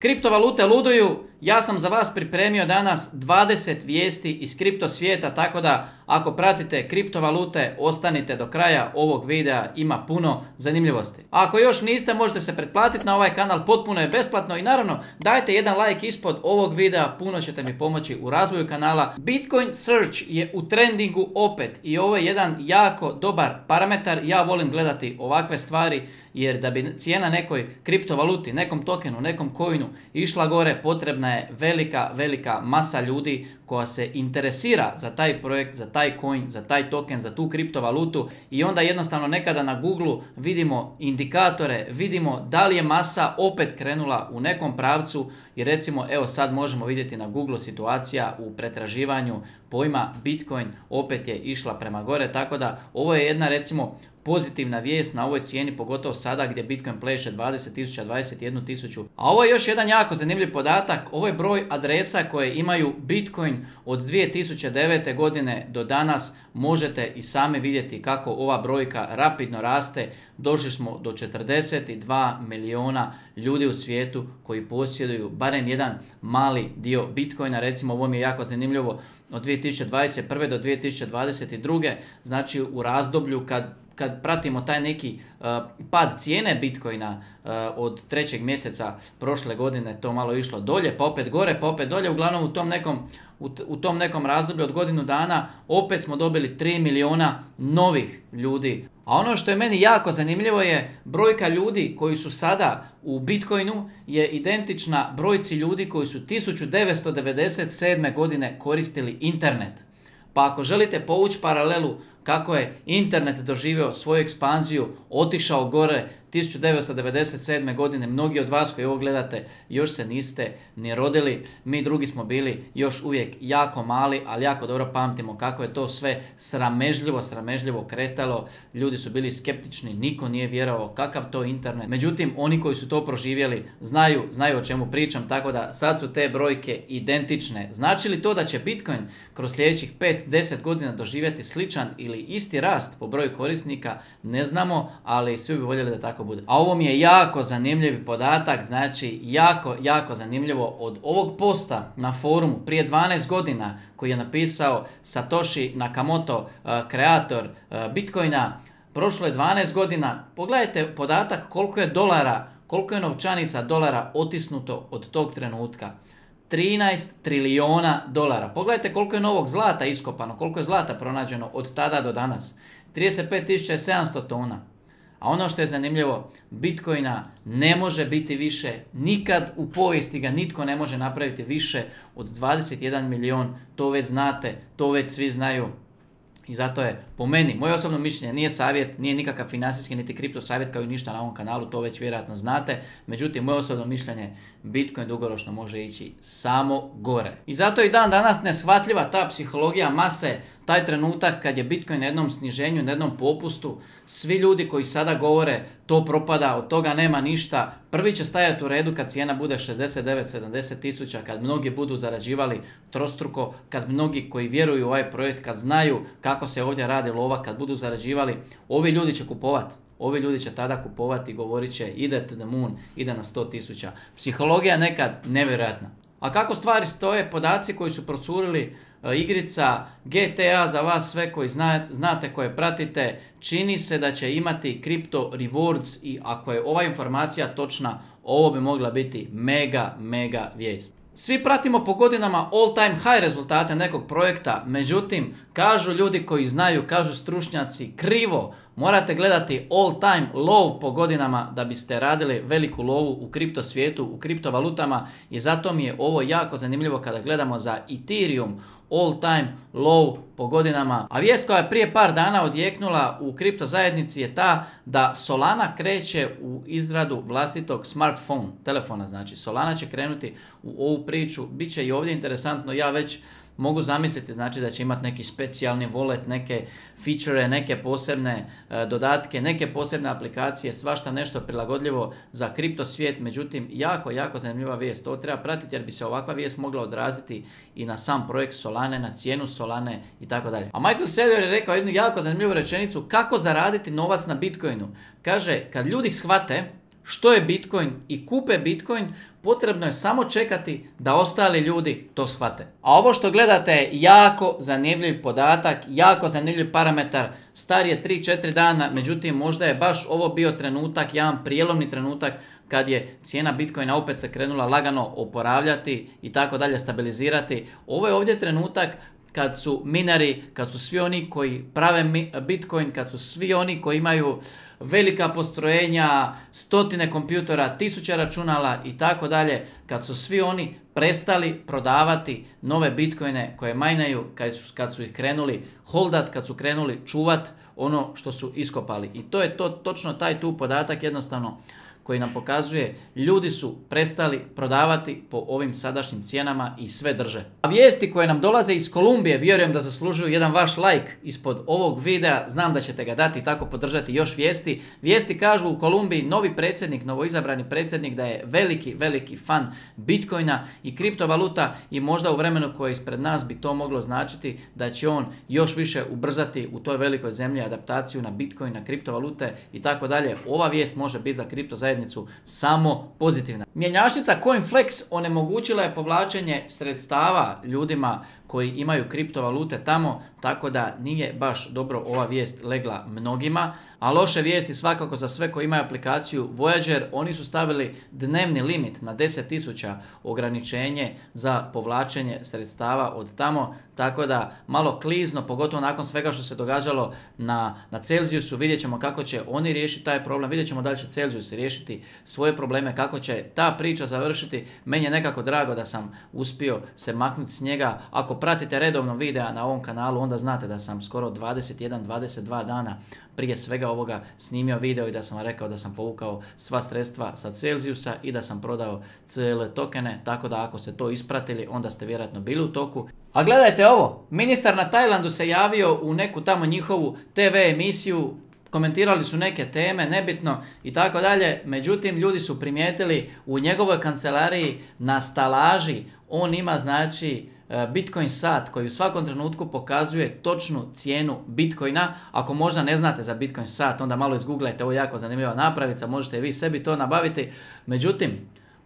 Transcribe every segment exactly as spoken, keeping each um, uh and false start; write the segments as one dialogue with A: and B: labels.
A: Kriptovalute luduju, ja sam za vas pripremio danas dvadeset vijesti iz kripto svijeta, tako da ako pratite kriptovalute ostanite do kraja ovog videa, ima puno zanimljivosti. A ako još niste, možete se pretplatiti na ovaj kanal, potpuno je besplatno i naravno dajte jedan like ispod ovog videa, puno ćete mi pomoći u razvoju kanala. Bitcoin Search je u trendingu opet i ovo je jedan jako dobar parametar, ja volim gledati ovakve stvari jer da bi cijena nekoj kriptovaluti, nekom tokenu, nekom coinu išla gore, potrebna je velika, velika masa ljudi koja se interesira za taj projekt, za taj coin, za taj token, za tu kriptovalutu i onda jednostavno nekada na Google vidimo indikatore, vidimo da li je masa opet krenula u nekom pravcu i recimo evo sad možemo vidjeti na Google situacija u pretraživanju pojma Bitcoin opet je išla prema gore, tako da ovo je jedna recimo pozitivna vijest na ovoj cijeni, pogotovo sada gdje Bitcoin pleše dvadeset tisuća, dvadeset jednu tisuću. A ovo je još jedan jako zanimljiv podatak, ovo je broj adresa koje imaju Bitcoin od dvije tisuće devete. godine do danas. Možete i sami vidjeti kako ova brojka rapidno raste. Došli smo do četrdeset dva milijuna ljudi u svijetu koji posjeduju barem jedan mali dio Bitcoina. Recimo ovo mi je jako zanimljivo od dvije tisuće dvadeset prve. do dvije tisuće dvadeset druge. Znači u razdoblju kad kad pratimo taj neki uh, pad cijene Bitcoina uh, od trećeg mjeseca prošle godine, to malo išlo dolje, pa opet gore, pa opet dolje, uglavnom u tom nekom, u, u tom nekom razdoblju od godinu dana opet smo dobili tri milijuna novih ljudi. A ono što je meni jako zanimljivo je brojka ljudi koji su sada u Bitcoinu je identična brojci ljudi koji su tisuću devetsto devedeset sedme. godine koristili internet. Pa ako želite povući paralelu kako je internet doživio svoju ekspanziju, otišao gore tisuću devetsto devedeset sedme. godine, mnogi od vas koji ovo gledate još se niste ni rodili, mi drugi smo bili još uvijek jako mali, ali jako dobro pamtimo kako je to sve sramežljivo, sramežljivo kretalo, ljudi su bili skeptični, niko nije vjerovao kakav to internet, međutim oni koji su to proživjeli znaju, znaju o čemu pričam, tako da sad su te brojke identične. Znači li to da će Bitcoin kroz sljedećih pet do deset godina doživjeti sličan ili isti rast po broju korisnika, ne znamo, ali svi bi voljeli da tako bude. A ovo mi je jako zanimljiv podatak, znači jako, jako zanimljivo od ovog posta na forumu prije dvanaest godina koji je napisao Satoshi Nakamoto, uh, kreator uh, Bitcoina, prošlo je dvanaest godina, pogledajte podatak koliko je dolara, koliko je novčanica dolara otisnuto od tog trenutka. trinaest trilijuna dolara. Pogledajte koliko je novog zlata iskopano, koliko je zlata pronađeno od tada do danas. trideset pet tisuća sedamsto tona. A ono što je zanimljivo, Bitcoina ne može biti više, nikad u povijesti ga nitko ne može napraviti više od dvadeset jedan milijon, to već znate, to već svi znaju. I zato je, po meni, moje osobno mišljenje, nije savjet, nije nikakav financijski niti kripto savjet kao i ništa na ovom kanalu, to već vjerojatno znate. Međutim, moje osobno mišljenje, Bitcoin dugoročno može ići samo gore. I zato je i dan danas neshvatljiva ta psihologija mase, taj trenutak kad je Bitcoin na jednom sniženju, na jednom popustu, svi ljudi koji sada govore to propada, od toga nema ništa, prvi će stajati u redu kad cijena bude šezdeset devet sedamdeset tisuća, kad mnogi budu zarađivali trostruko, kad mnogi koji vjeruju u ovaj projekt, kad znaju kako se ovdje radi lova, kad budu zarađivali, ovi ljudi će kupovati. Ovi ljudi će tada kupovati i govorit će ide to the moon, ide na sto tisuća. Psihologija nekad nevjerojatna. A kako stvari stoje, podaci koji su procurili, igrica G T A za vas sve koji znate, znate koje pratite, čini se da će imati Crypto Rewards i ako je ova informacija točna, ovo bi mogla biti mega, mega vijest. Svi pratimo po godinama all time high rezultate nekog projekta, međutim, kažu ljudi koji znaju, kažu stručnjaci, krivo, morate gledati all time low po godinama da biste radili veliku lovu u kripto svijetu, u kriptovalutama i zato mi je ovo jako zanimljivo kada gledamo za Ethereum all time low po godinama. A vijest koja je prije par dana odjeknula u kripto zajednici je ta da Solana kreće u izradu vlastitog smartphone, telefona znači. Solana će krenuti u ovu priču, bit će i ovdje interesantno, ja već mogu zamisliti znači da će imati neki specijalni wallet, neke feature, neke posebne e, dodatke, neke posebne aplikacije, svašta nešto prilagodljivo za kripto svijet, međutim jako, jako zanimljiva vijest. To treba pratiti jer bi se ovakva vijest mogla odraziti i na sam projekt Solane, na cijenu Solane i tako dalje. A Michael Saylor je rekao jednu jako zanimljivu rečenicu kako zaraditi novac na Bitcoinu. Kaže, kad ljudi shvate što je Bitcoin i kupe Bitcoin, potrebno je samo čekati da ostali ljudi to shvate. A ovo što gledate je jako zanimljiv podatak, jako zanimljiv parametar, star je tri četiri dana, međutim možda je baš ovo bio trenutak, jedan prijelomni trenutak kad je cijena Bitcoina opet se krenula lagano oporavljati i tako dalje, stabilizirati. Ovo je ovdje trenutak kad su mineri, kad su svi oni koji prave Bitcoin, kad su svi oni koji imaju velika postrojenja, stotine kompjutora, tisuće računala i tako dalje, kad su svi oni prestali prodavati nove Bitcoine koje majnaju, kad su, kad su ih krenuli holdat, kad su krenuli čuvat ono što su iskopali. I to je to, točno taj tu podatak jednostavno koji nam pokazuje, ljudi su prestali prodavati po ovim sadašnjim cijenama i sve drže. A vijesti koje nam dolaze iz Kolumbije, vjerujem da zaslužuju jedan vaš like ispod ovog videa, znam da ćete ga dati i tako podržati još vijesti. Vijesti kažu u Kolumbiji novi predsjednik, novoizabrani predsjednik da je veliki, veliki fan Bitcoina i kriptovaluta i možda u vremenu koje je ispred nas bi to moglo značiti da će on još više ubrzati u toj velikoj zemlji adaptaciju na Bitcoin, na kriptovalute i tako dalje. Ova vijest može biti za kripto zajednicu samo pozitivna. Mjenjačnica CoinFlex onemogućila je povlačenje sredstava ljudima koji imaju kriptovalute tamo, tako da nije baš dobro ova vijest legla mnogima. A loše vijesti svakako za sve koji imaju aplikaciju Voyager, oni su stavili dnevni limit na deset tisuća ograničenje za povlačenje sredstava od tamo, tako da malo klizno, pogotovo nakon svega što se događalo na, na Celsiusu, vidjet ćemo kako će oni riješiti taj problem, vidjet ćemo da li će Celsius riješiti svoje probleme, kako će ta priča završiti. Meni je nekako drago da sam uspio se maknuti s njega. Ako pratite redovno videa na ovom kanalu, onda znate da sam skoro dvadeset jedan dvadeset dva dana prije svega ovoga snimio video i da sam vam rekao da sam povukao sva sredstva sa Celsiusa i da sam prodao C L tokene, tako da ako ste to ispratili, onda ste vjerojatno bili u toku. A gledajte ovo, ministar na Tajlandu se javio u neku tamo njihovu T V emisiju, komentirali su neke teme, nebitno i tako dalje, međutim ljudi su primijetili u njegovoj kancelariji na stalaži, on ima znači Bitcoin sat koji u svakom trenutku pokazuje točnu cijenu Bitcoina. Ako možda ne znate za Bitcoin sat, onda malo izgooglajte, ovo je jako zanimljiva napravica, možete vi sebi to nabaviti. Međutim,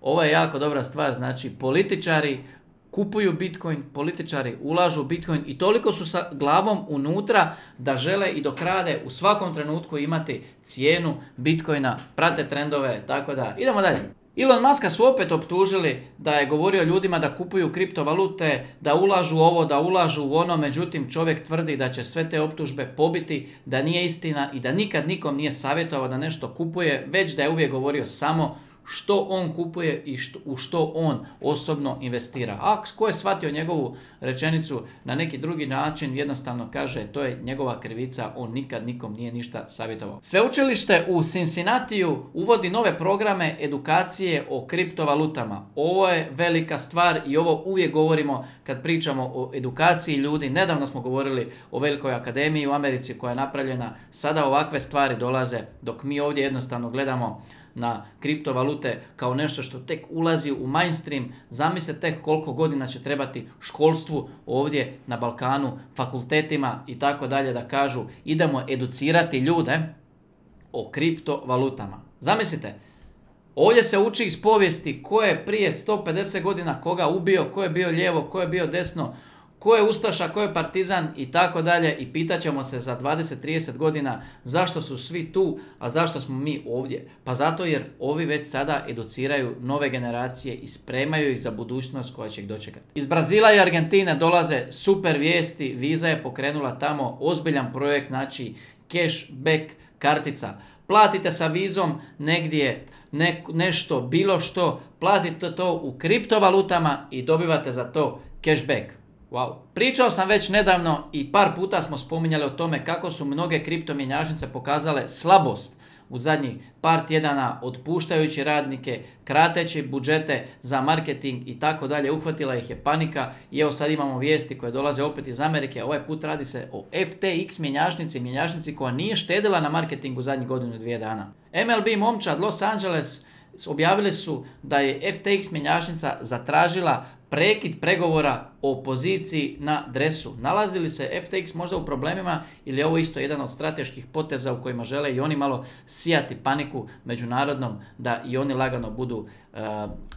A: ovo je jako dobra stvar, znači političari kupuju Bitcoin, političari ulažu u Bitcoin i toliko su sa glavom unutra da žele i dok rade u svakom trenutku imati cijenu Bitcoina, prate trendove, tako da idemo dalje. Elon Muska su opet optužili da je govorio ljudima da kupuju kriptovalute, da ulažu u ovo, da ulažu u ono, međutim čovjek tvrdi da će sve te optužbe pobiti, da nije istina i da nikad nikom nije savjetovao da nešto kupuje, već da je uvijek govorio samo što on kupuje i što, u što on osobno investira. A ko je shvatio njegovu rečenicu na neki drugi način, jednostavno kaže to je njegova krivica, on nikad nikom nije ništa savjetovao. Sveučilište u Cincinnatiju uvodi nove programe edukacije o kriptovalutama. Ovo je velika stvar i ovo uvijek govorimo kad pričamo o edukaciji ljudi. Nedavno smo govorili o velikoj akademiji u Americi koja je napravljena. Sada ovakve stvari dolaze dok mi ovdje jednostavno gledamo na kriptovalute kao nešto što tek ulazi u mainstream. Zamislite tek koliko godina će trebati školstvu ovdje na Balkanu, fakultetima i tako dalje da kažu idemo educirati ljude o kriptovalutama. Zamislite, ovdje se uči iz povijesti ko je prije sto pedeset godina koga ubio, ko je bio lijevo, ko je bio desno, ko je ustaša, ko je partizan i tako dalje i pitat ćemo se za dvadeset trideset godina zašto su svi tu, a zašto smo mi ovdje. Pa zato jer ovi već sada educiraju nove generacije i spremaju ih za budućnost koja će ih dočekati. Iz Brazila i Argentine dolaze super vijesti, Visa je pokrenula tamo ozbiljan projekt, znači cashback kartica. Platite sa Vizom negdje ne, nešto, bilo što, platite to u kriptovalutama i dobivate za to cashback. Wow. Pričao sam već nedavno i par puta smo spominjali o tome kako su mnoge kriptomjenjačnice pokazale slabost u zadnjih par tjedana, otpuštajući radnike, krateći budžete za marketing i tako dalje. Uhvatila ih je panika i evo sad imamo vijesti koje dolaze opet iz Amerike. Ovaj put radi se o F T X mjenjačnici, mjenjačnici koja nije štedila na marketingu zadnjih godinu i dvije dana. M L B momčad Los Angeles objavili su da je F T X mjenjačnica zatražila prekid pregovora o poziciji na dresu. Nalazi li se F T X možda u problemima ili je ovo isto jedan od strateških poteza u kojima žele i oni malo sijati paniku međunarodnom da i oni lagano budu uh,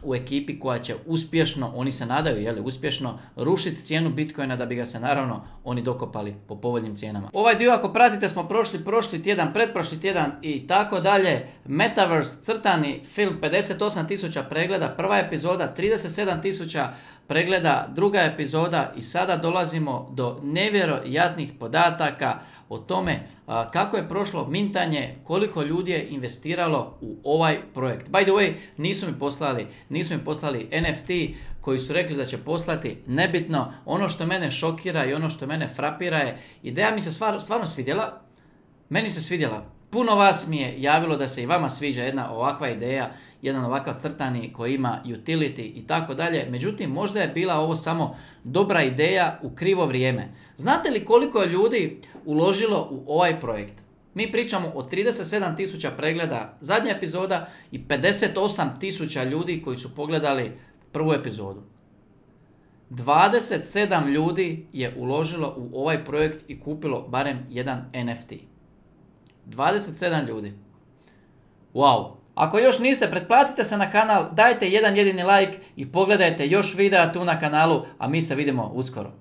A: u ekipi koja će uspješno, oni se nadaju, jeli, uspješno rušiti cijenu Bitcoina da bi ga se naravno oni dokopali po povoljnim cijenama. Ovaj dio ako pratite smo prošli prošli tjedan, pretprošli tjedan i tako dalje. Metaverse crtani film pedeset osam tisuća pregleda, prva epizoda trideset sedam tisuća pregleda, druga epizoda i sada dolazimo do nevjerojatnih podataka o tome a, kako je prošlo mintanje, koliko ljudi je investiralo u ovaj projekt. By the way, nisu mi poslali, nisu mi poslali N F T koji su rekli da će poslati, nebitno. Ono što mene šokira i ono što mene frapira je, ideja mi se stvar, stvarno svidjela, meni se svidjela. Puno vas mi je javilo da se i vama sviđa jedna ovakva ideja, jedan ovakav crtani koji ima utility i tako dalje. Međutim, možda je bila ovo samo dobra ideja u krivo vrijeme. Znate li koliko je ljudi uložilo u ovaj projekt? Mi pričamo o trideset sedam tisuća pregleda zadnja epizoda i pedeset osam tisuća ljudi koji su pogledali prvu epizodu. dvadeset sedam ljudi je uložilo u ovaj projekt i kupilo barem jedan N F T. dvadeset sedam ljudi. Wow. Ako još niste, pretplatite se na kanal, dajte jedan jedini like i pogledajte još videa tu na kanalu, a mi se vidimo uskoro.